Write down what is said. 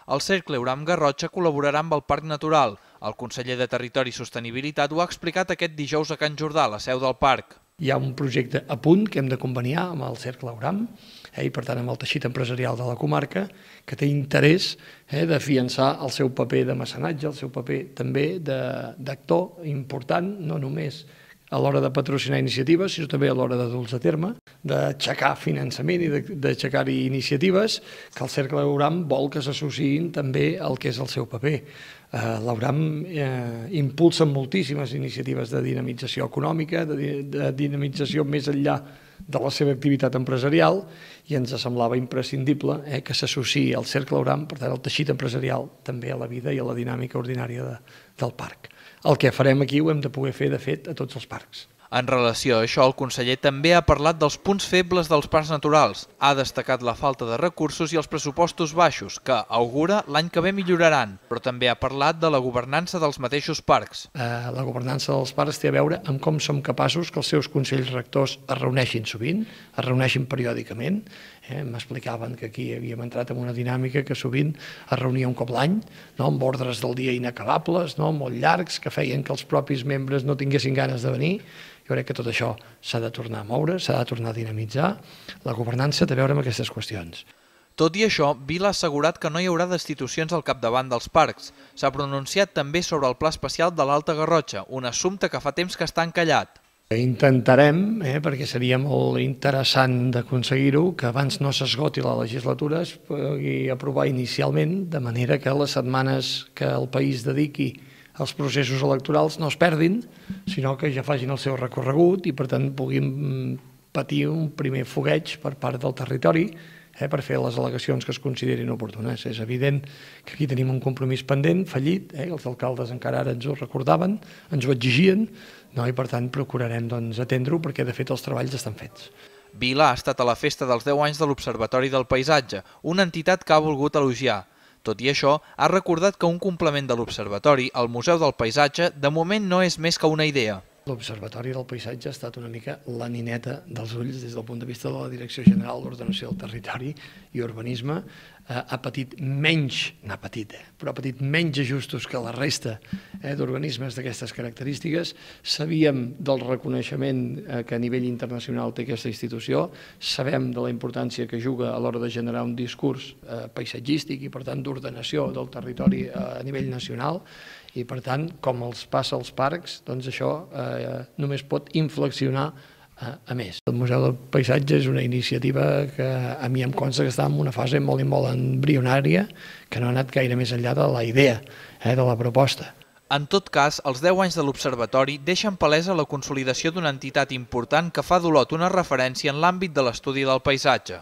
El Cercle Euram Garrotxa col·laborarà amb el Parc Natural. El conseller de Territori i Sostenibilitat ho ha explicat aquest dijous a Can Jordà, la seu del parc. Hi ha un projecte a punt que hem de conveniar amb el Cercle Euram i per tant amb el teixit empresarial de la comarca que té interès d'afiançar el seu paper de mecenatge, el seu paper també d'actor important, no només a l'hora de patrocinar iniciatives, sinó també a l'hora de dur-los a terme, d'aixecar finançament i d'aixecar-hi iniciatives, que el Cercle Euram vol que s'associïn també al que és el seu paper. L'Euram impulsa moltíssimes iniciatives de dinamització econòmica, de dinamització més enllà de la seva activitat empresarial, i ens semblava imprescindible que s'associï al Cercle Euram, per tant, el teixit empresarial, també a la vida i a la dinàmica ordinària del parc. El que farem aquí ho hem de poder fer, de fet, a tots els parcs. En relació a això, el conseller també ha parlat dels punts febles dels parcs naturals. Ha destacat la falta de recursos i els pressupostos baixos, que, augura, l'any que ve milloraran, però també ha parlat de la governança dels mateixos parcs. La governança dels parcs té a veure amb com som capaços que els seus consells rectors es reuneixin sovint, es reuneixin periòdicament. M'explicaven que aquí havíem entrat en una dinàmica que sovint es reunia un cop l'any, amb ordres del dia inacabables, molt llargs, que feien que els propis membres no tinguessin ganes de venir. Jo crec que tot això s'ha de tornar a moure, s'ha de tornar a dinamitzar. La governança té a veure amb aquestes qüestions. Tot i això, Vila ha assegurat que no hi haurà destitucions al capdavant dels parcs. S'ha pronunciat també sobre el Pla Especial de l'Alta Garrotxa, un assumpte que fa temps que està encallat. Intentarem, perquè seria molt interessant d'aconseguir-ho, que abans no s'esgoti la legislatura es pugui aprovar inicialment, de manera que les setmanes que el país dediqui als processos electorals no es perdin, sinó que ja facin el seu recorregut i per tant puguin patir un primer fogueig per part del territori per fer les al·legacions que es considerin oportunes. És evident que aquí tenim un compromís pendent, fallit, els alcaldes encara ara ens ho recordaven, ens ho exigien, i per tant procurarem atendre-ho perquè de fet els treballs estan fets. Vila ha estat a la festa dels 10 anys de l'Observatori del Paisatge, una entitat que ha volgut elogiar. Tot i això, ha recordat que un complement de l'Observatori, el Museu del Paisatge, de moment no és més que una idea. L'Observatori del Paisatge ha estat una mica la nineta dels ulls des del punt de vista de la Direcció General d'Ordenació del Territori i Urbanisme. Ha patit menys, però ha patit menys ajustos que la resta d'organismes d'aquestes característiques. Sabíem del reconeixement que a nivell internacional té aquesta institució, sabem de la importància que juga a l'hora de generar un discurs paisatgístic i per tant d'ordenació del territori a nivell nacional, i per tant, com els passa als parcs, doncs això només pot inflexionar a més. El Museu del Paisatge és una iniciativa que a mi em consta que està en una fase molt embrionària, que no ha anat gaire més enllà de la idea, de la proposta. En tot cas, els 10 anys de l'Observatori deixen palesa la consolidació d'una entitat important que fa d'Olot una referència en l'àmbit de l'estudi del paisatge.